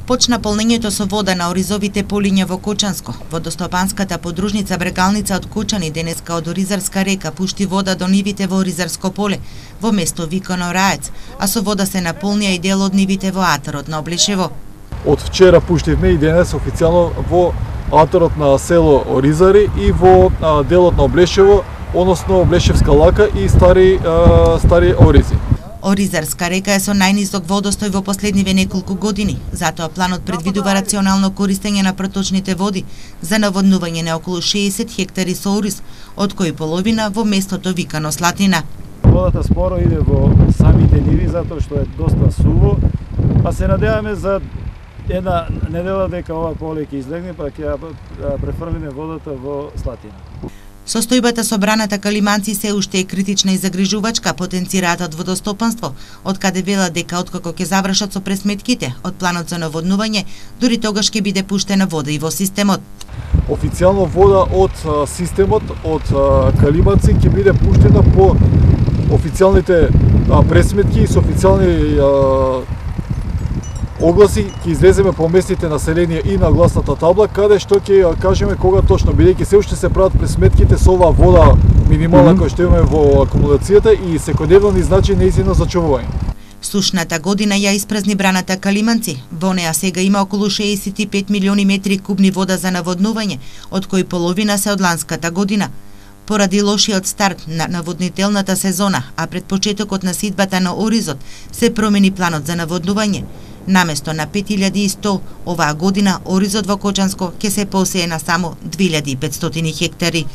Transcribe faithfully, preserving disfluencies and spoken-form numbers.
Почна полнењето со вода на оризовите полиња во Кочанско. Водостопанската подружница Брегалница од Кочани денеска од Оризарска река пушти вода до нивите во Оризарско поле, во место викано Раец, а со вода се наполнија и дел од нивите во атарот на Облешево. Од вчера пуштивме и денес официјално во атарот на село Оризари и во а, делот на Облешево, односно Облешевска лака и стари а, стари Оризи. Оризарска река е со најнисок водостој во последниве неколку години, затоа планот предвидува рационално користење на проточните води за наводнување на околу шеесет хектари со ориз, од кои половина во местото викано Слатина. Водата споро иде во самите ниви затоа што е доста суво, па се надеваме за една недела дека ова поле ќе излегне, па ќе префрлиме водата во Слатина. Состојбата со браната Калиманци се уште е критична и загрижувачка, потенцираат од водостопанство, од каде велат дека откако ќе завршат со пресметките од планот за наводнување, дури тогаш ќе биде пуштена вода и во системот. Официјално вода од а, системот од а, Калиманци ќе биде пуштена по официјалните а, пресметки и со официјални а, огласи ќе излеземе по местните население и на гласната табла, каде што ќе кажеме кога точно, бидејќи се уште се прават пресметките со оваа вода минимална mm -hmm. која што имаме во акумулацијата и секојдневно ни значи нејзино зачувување. Сушната година ја испразни браната Калиманци. Во неа сега има околу шеесет и пет милиони метри кубни вода за наводнување, од кои половина се од ланската година. Поради лошиот старт на наводнителната сезона, а пред почетокот на сидбата на оризот, се промени планот за наводнување. Наместо на пет илјади и сто, оваа година оризот во Кочанско ќе се посее на само две илјади и петстотини хектари.